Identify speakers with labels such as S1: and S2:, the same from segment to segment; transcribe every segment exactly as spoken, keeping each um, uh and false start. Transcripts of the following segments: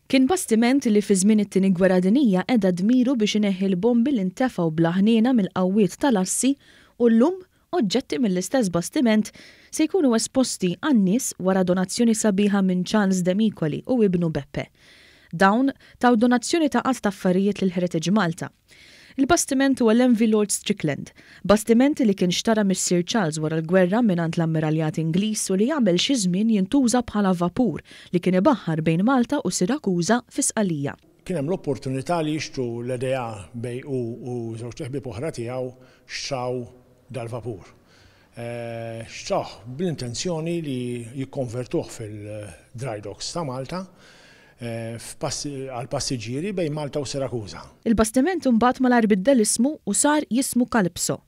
S1: Kien bastiment li fi żmien it-Tieni Gwerra Dinjija qeda dmiru biex ineħħi l-bombi li ntefgħu bla ħniena mill-qawwiet tal-assi u llum oġġetti mill-istess bastiment se jkunu esposti għan-nies wara donazzjoni sabiħa minn Charles Demicoli u ibnu Beppe. Dawn taw donazzjoni ta' għadd ta' affarijiet lil Heritage Malta. Il-bastiment huwa l-M V Lord Strickland, bastiment li kien xtara missier Charles wara l-gwerra mingħand l-ammiraljat Ingliż u li għamel xi żmien jintuża bħala vapur li kien ibaħħar bejn Malta u Sirakuża fi Sqalija.
S2: Kien hemm l-opportunità li jixtru l-idea bejn hu u żewġ ħbieb oħra tiegħu xtraw dal-vapur. Eh, xtrawh bl-intenzjoni li jikkonvertuh fil-dry docks ta' Malta eh, għal passiġġieri bejn Malta u Sirakuża.
S1: Il-bastiment imbagħad malajr biddel ismu u sar jismu Calypso.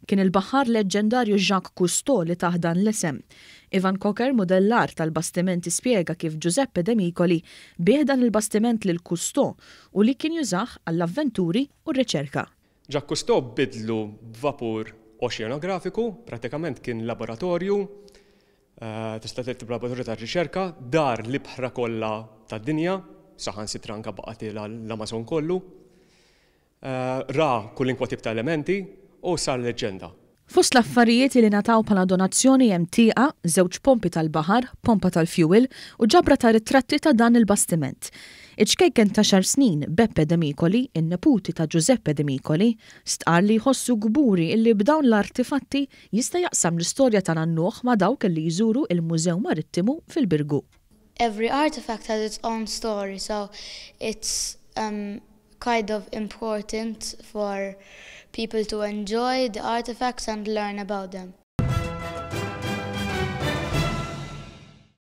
S1: Kien il-baħar leġġendarju Jacques Cousteau li tah dan l-isem. Ivan Cocker, modellar tal-bastimenti, spiega kif Giuseppe De Micoli biegħ dan il-bastiment lil Cousteau u li kien jużah għall-avventuri u r-riċerka.
S3: Jacques Cousteau bidlu vapur oċeanografiku, pratikament kien laboratorju, eh, tista' tgħid laboratorju ta' riċerka, dar l-ibħra kollha tad-dinja, saħansitra anka baqa' l-Amazon kollu. Eh, ra kwalunkwe tip ta' elementi u sar leġġenda.
S1: Fost l-affarijiet li ngħataw bħala donazzjoni hemm tieqa, żewġ pompi tal-baħar, pompa tal-fuel u ġabra ta' ritratti ta' dan il-bastiment. Iċ-ċkejken ta' għaxar snin Beppe De Micoli, in-neputi ta' Giuseppe De Micoli, stqar li jħossu kburi illi b'dawn l-artifatti jista' jaqsam l-istorja ta' nannuh ma' dawk li jżuru il-Mużew Marittimu fil-Birgu.
S4: Every artifact has its own story, so it's um, kind of important for people to enjoy the artifacts and learn about them.